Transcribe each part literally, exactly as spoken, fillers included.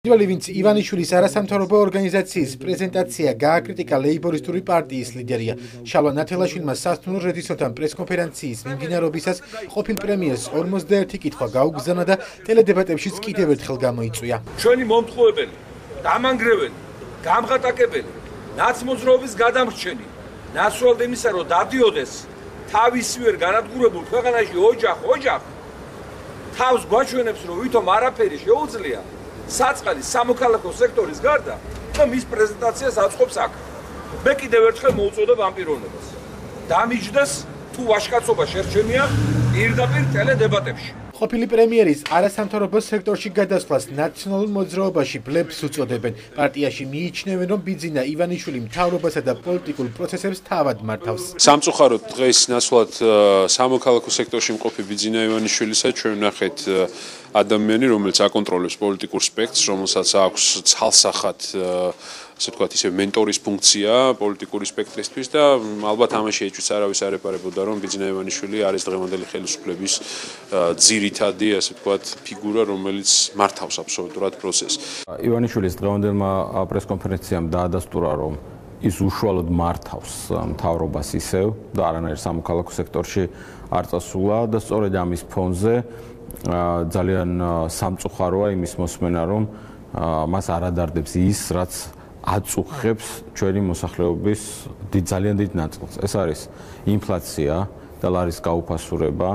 პირველი ვინც ივანიშვილის არასამთავრობო ორგანიზაციის პრეზენტაცია გააკრიტიკა ლეიბორისტური პარტიის ლიდერია. შალვა ნათელაშვილმა სასტუმრო რედისორთან პრესკონფერენციის მიმდინარეობისას ყოფილ პრემიერს ორმოცდაერთი კითხვა გაუგზავნა და ტელედებატებშიც კიდევ ერთხელ გამოიწვია. ჩვენი მომთხოვებელი, დამანგრეველი, გამღატაკებელი, ნაცმოძრაობის გადამრჩენი, ნაცვლად იმისა, რომ დადიოდეს თავისივე განადგურებულ ქვეყანაში ოჯახ, ოჯახ თავს გვაჩვენებს, რომ ვითომ არაფერი შეუძლია. საწყალის სამოქალაქო სექტორის გარდა და მის პრეზენტაციას აწყობს აქ. მე კიდევ ერთხელ მოუწოდებ ამ პიროვნებას. დამიჯდეს თუ ვაჟკაცობა შერჩენია პირდაპირ ტელედებატებში. ყოფილი პრემიერის არასამთავრობო სექტორში გადასვლას ნაციონალურ მოძრაობაში ბლებს უწოდებენ. პარტიაში მიიჩნევენ, რომ ბიძინა ივანიშვილი მთავრობასა და პოლიტიკურ პროცესებს თავად მართავს. სამწუხაროდ დღეს ნაცვლად სამოქალაქო სექტორში მყოფი ბიძინა ივანიშვილისა ჩვენ ვნახეთ ადამიანი, რომელიც აკონტროლებს პოლიტიკურ სპექტრს, რომელსაც აქვს ცალსახად ასე ვთქვათ, ისე მენტორის ფუნქცია პოლიტიკური სპექტრისთვის და ალბათ ამაში ეჭვიც არავის არ ეპარებოდა, რომ ბიძინა ივანიშვილი არის დღევანდელი ხელისუფლების ძირითადი, ასე ვთქვათ, ფიგურა, რომელიც მართავს აბსოლუტურად პროცესს. ივანიშვილის დღევანდელმა პრესკონფერენციამ დაადასტურა, რომ ის უშუალოდ მართავს მთავრობას ისევ და არანაირ სამოქალაქო სექტორში არ წასულა და სწორედ ამის ფონზე ძალიან სამწუხაროა იმის მოსმენა, რომ მას არ ადარდებს ის, რაც აწუხებს ჩვენი მოსახლეობის ძალიან დიდ ნაწილს. ეს არის ინფლაცია და ლარის გაუფასურება.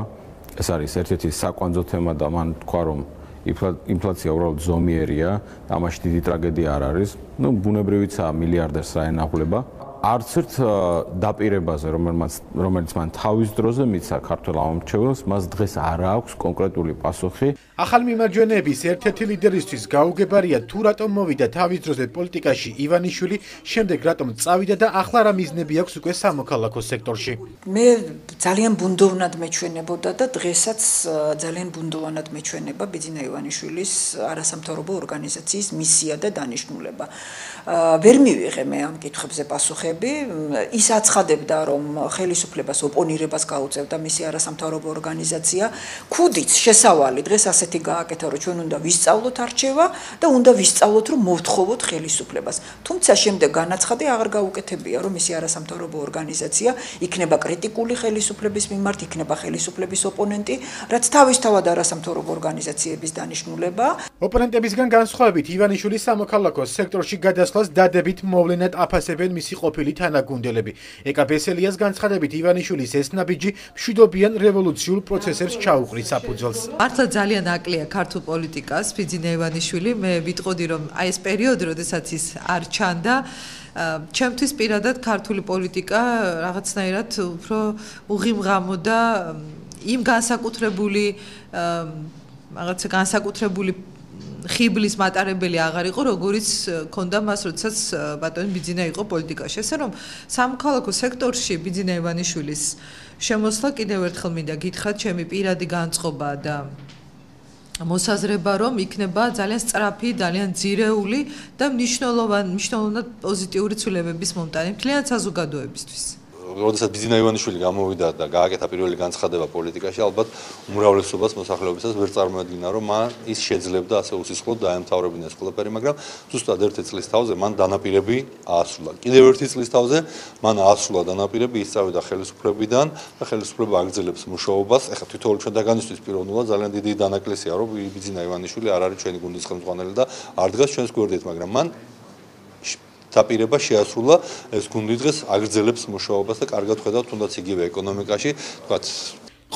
ეს არის ერთ-ერთი საკვანძო თემა და მან თქვა, რომ ინფლაცია უბრალოდ ზომიერია და ამაში დიდი ტრაგედია არ არის. ნუ ბუნებრივიცაა მილიარდერს რა ენაღვლება. არც ერთ დაპირებაზე, რომელიც მან თავის დროზე მიცა ქართველ ამომრჩეველს, მას დღეს არ აქვს კონკრეტული პასუხი. ახალ მიმარჯვენეების ერთ-ერთი ლიდერისთვის გაუგებარია თუ რატომ მოვიდა თავის დროზე პოლიტიკაში ივანიშვილი, შემდეგ რატომ წავიდა და ახლა რა მიზნები აქვს უკვე სამოქალაქო სექტორში. მე ძალიან ბუნდოვნად მეჩვენებოდა და დღესაც ძალიან ბუნდოვანად მეჩვენება ბიძინა ივანიშვილის არასამთავრობო ორგანიზაციის მისია და დანიშნულება. ვერ მივიღე მე ამ კითხვებზე პასუხები. ის აცხადებდა, რომ ხელისუფლებას ოპონირებას გაუწევდა მისი არასამთავრობო ორგანიზაცია. ქუდიც შესავალი დღეს ასეთი გააკეთა, რომ ჩვენ უნდა ვისწავლოთ არჩევა და უნდა ვისწავლოთ, რომ მოვთხოვოთ ხელისუფლებას. თუმცა შემდეგ განაცხადი აღარ გაუკეთებია, რომ მისი არასამთავრობო ორგანიზაცია იქნება კრიტიკული ხელისუფლების მიმართ, იქნება ხელისუფლების ოპონენტი, რაც თავისთავად არასამთავრობო ორგანიზაციების დანიშნულებაა. ოპონენტებისგან განსხვავებით ივანიშვილის სამოქალაქო სექტორში გადასვლას დადებით მოვლენად აფასებენ მისი ყოფილი თანაგუნდელები. ეკა ბესელიას განცხადებით ივანიშვილის ეს ნაბიჯი მშვიდობიან რევოლუციურ პროცესებს ჩაუყრის საფუძველს. მართლა ძალიან აკლია ქართულ პოლიტიკას ბიძინა ივანიშვილი. მე ვიტყოდი, რომ აი ეს პერიოდი, როდესაც ის არ ჩანდა, ჩემთვის პირადად ქართული პოლიტიკა რაღაცნაირად უფრო უღიმღამო და იმ განსაკუთრებული რაღაცა განსაკუთრებული ხიბლის მატარებელი აღარ იყო, როგორიც ქონდა მას, როდესაც ბატონი ბიძინა იყო პოლიტიკაში. ესე რომ სამოქალაქო სექტორში ბიძინა ივანიშვილის შემოსვლა კიდევ ერთხელ მინდა გითხრათ, ჩემი პირადი განწყობა და მოსაზრება, რომ იქნება ძალიან სწრაფი, ძალიან ძირეული და მნიშვნელოვანი, მნიშვნელოვნად პოზიტიური ცვლილებების მომტანი მთლიან საზოგადოებისთვის. როდესაც ბიძინა ივანიშვილი გამოვიდა და გააკეთა პირველი განცხადება პოლიტიკაში, ალბათ უმრავლესობას მოსახლეობისას ვერ წარმოედგინა, რომ მან ის შეძლებდა ასე უსისხლოდ დაემთავრებინა ეს ყველაფერი, მაგრამ ზუსტად ერთი წლის თავზე მან დანაპირები აასრულა. კიდევ ერთი წლის თავზე მან აასრულა დანაპირები, ისწავიდა ხელისუფლებიდან და ხელისუფლება აგრძელებს მუშაობას. ეხლა თითოეული ჩვენ დაგანისთვის პიროვნულად ძალიან დიდი დანაკლისია, რომ ბიძინა ივანიშვილი არ არის ჩვენი გუნდის ხელმძღვანელი და არ დგას ჩვენს გვერდით, მაგრამ მან დაპირება შეასრულა, ეს გუნდი დღეს აგრძელებს მუშაობას და კარგად ხედავთ თუნდაც იგივე ეკონომიკაში, თქვათ.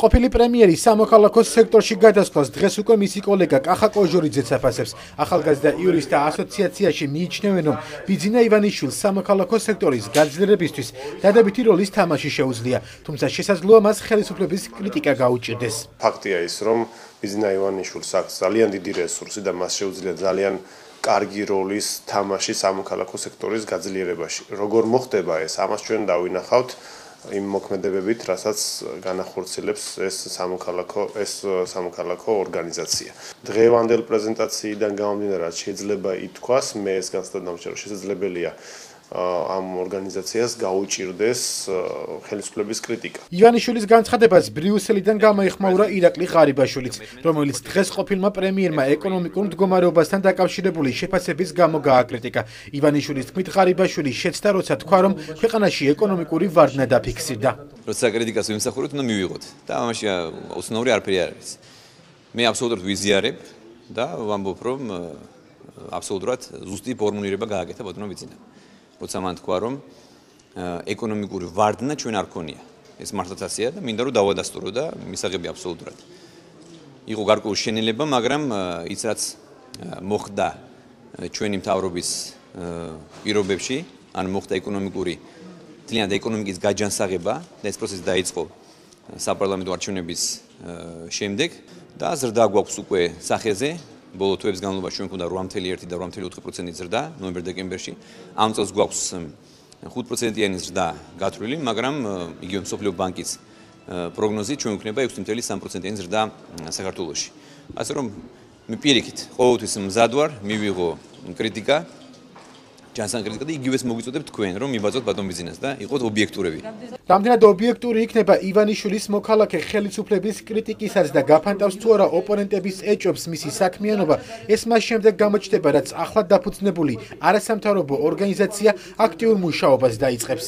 ყოფილი პრემიერი სამოქალაქო სექტორში გადასვლას დღეს უკვე მისი კოლეგა კახა კოჟორიძეც აფასებს. ახალგაზრდა იურისტთა ასოციაციაში მიიჩნევენ, რომ ბიძინა ივანიშვილს სამოქალაქო სექტორის გაძლიერებისთვის დადებითი როლის თამაში შეუძლია, თუმცა შესაძლოა მას ხელისუფლების კრიტიკა გაუჭირდეს. ფაქტია ის, რომ ბიძინა ივანიშვილს აქვს ძალიან დიდი რესურსი და მას შეუძლია ძალიან კარგი როლის თამაში სამოქალაქო სექტორის გაძლიერებაში. როგორ მოხდება ეს? ამას ჩვენ დავინახავთ იმ მოქმედებებით, რასაც განახორციელებს ეს სამოქალაქო ეს სამოქალაქო ორგანიზაცია. დღევანდელ პრეზენტაციიდან გამომდინარე, შეიძლება ითქვას, მე ეს განცდა დამჭერ, შესაძლებელია ამ ორგანიზაციას გაუჭირდეს ხელისუფლების კრიტიკა. ივანიშვილის განცხადებას ბრიუსელიდან გამოიხმაურა ირაკლი ღარიბაშვილიც, რომელიც დღეს ყოფილმა პრემიერმა ეკონომიკურ მდგომარეობასთან დაკავშირებული შეფასების გამო გააკრიტიკა. ივანიშვილის თქმით, ღარიბაშვილი შეცდა, როცა თქვა, რომ ქვეყანაში ეკონომიკური ვარდნა დაფიქსირდა. როცა კრიტიკას ვიმსახურებთ, უნდა მივიღოთ და ამაში უცნაური არაფერი არ არის. მე აბსოლუტურად ვიზიარებ და ვამბობ, რომ აბსოლუტურად ზუსტი ფორმულირება გააკეთა ბატონო ბიძინამ. როცა მან თქვა, რომ ეკონომიკური ვარდნა ჩვენ არ ქონია. ეს მართლაც ასეა და მინდა რომ დავადასტურო და მისაღები აბსოლუტურად. იყო გარკვეული შენელება, მაგრამ ის რაც მოხდა ჩვენი მთავრობის პირობებში, ან მოხდა ეკონომიკური თლიანად ეკონომიკის გაჯანსაღება და ეს პროცესი დაიწყო საპარლამენტო არჩევნების შემდეგ და ზრდა გვაქვს უკვე სახეზე. ბოლო თვეების განმავლობაში ჩვენ გვქონდა რვა წუთი ერთი და რვა წუთი ოთხი პროცენტი ზრდა ნოემბერ-დეკემბერში. ამ წელს გვაქვს ხუთ პროცენტიანი ზრდა გათვლილი, მაგრამ იგივე მსოფლიო ბანკის პროგნოზით ჩვენ გვქნება ექვსი წუთი სამი პროცენტიანი ზრდა საქართველოში. ასე რომ მე პირიქით ყოველთვის მზად ვარ მივიღო კრიტიკა, ჯანსაღ კრიტიკა და იგივეს მოგიწოდებ თქვენ, რომ მიბაძოთ ბატონ ბიძინას და იყოთ ობიექტურები. რამდენად ობიექტური იქნება ივანიშვილის მოქალაქე ხელისუფლების კრიტიკისაც და გაფანტავს თუ არა ოპონენტების ეჭვებს მისი საქმიანობა, ეს მას შემდეგ გამოჩნდება, რაც ახლად დაფუძნებული არასამთავრობო ორგანიზაცია აქტიურ მუშაობას დაიწყებს.